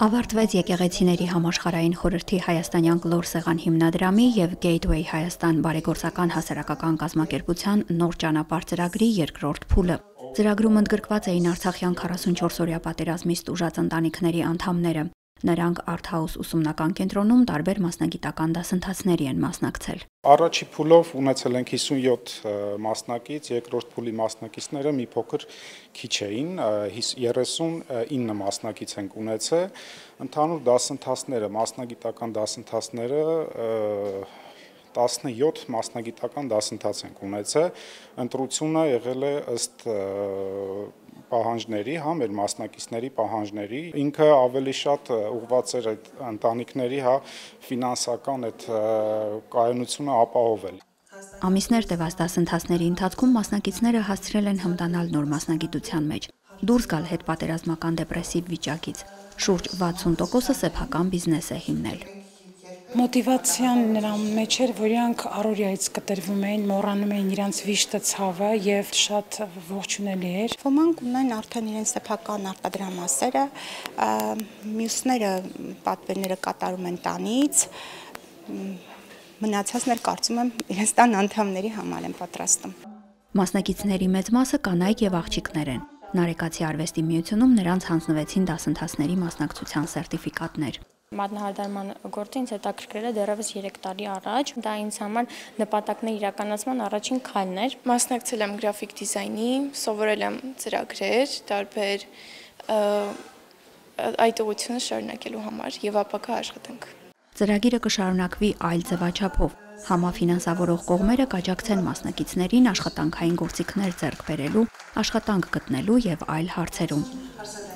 Ավարտվեց եկեղեցիների համաշխարհային խորհրդի հայաստանյան կլոր սեղան հիմնադրամի եւ Gateway Հայաստան բարեգործական հասարակական կազմակերպության նոր ճանապարհ ծրագրի երկրորդ փուլը։ Ծրագրում ընդգրկված էին արցախյան 44-օրյա պատերազմից տուժած ընտանիքների անդամները։ Նրանք Art-House ուսումնական կենտրոնում տարբեր մասնագիտական դասընթացների են մասնակցել։ Առաջի փուլով ունեցել ենք 57 մասնակից, երկրորդ փուլի մասնակիցները մի փոքր քիչ էին, 39 մասնակից ենք ունեցել։ Ընդհանուր դասընթացները, մասնագիտական դասընթացները 17 մասնագիտական դասընթաց ենք ունեցել, ընտրությունը եղել է ըստ պահանջների, մեր մասնակիցների պահանջների, ինքը ավելի շատ ուղղված էր այդ ընտանիքների, ֆինանսական այդ կայունությունը ապահովել։ Ամիսներ տևած դասընթացների ընթացքում մասնակիցները հասցրել են հմտանալ նոր մասնագիտության մեջ, դուրս գալ հետպատերազմական դեպրեսիվ վիճակից։ Շուրջ 60%-ը սեփական բիզնես է հիմնել։ Մոտիվացիան նրան մեջ էր, որ իրանք առօրյայից կտրվում էին, մոռանում էին իրանց վիշտը ցավը եւ շատ ողջունելի էր։ Ոմանք ունեն արդեն իրենց սեփական արտադրամասերը, մյուսները պատվերները կատարում են տանից, մնացածներ կարծում եմ իրենց տան անդամների համար են պատրաստում։ Մասնակիցների մեծ մասը կանայք եւ աղջիկներ են։ Նարեկացի արվեստի միությունում նրանց հանձնվեցին դասընթացների մասնակցության սերտիֆիկատներ։ Մատնահարդարման գործը ինձ հետաքրքրել է դեռևս 3 տարի առաջ, դա ինձ համար նպատակների իրականացման առաջին քայլն էր։ Մասնակցել եմ գրաֆիկ դիզայնի, սովորել եմ ծրագրեր, տարբեր այդ ուղղությունը շարունակելու համար եւ ապակա աշխատանք։ Ծրագիրը կշարունակվի այլ ձևաչափով։ Համաֆինանսավորող կողմերը կաջակցեն մասնակիցներին աշխատանքային գործիքներ ձեռք բերելու, աշխատանք գտնելու եւ այլ հարցերում։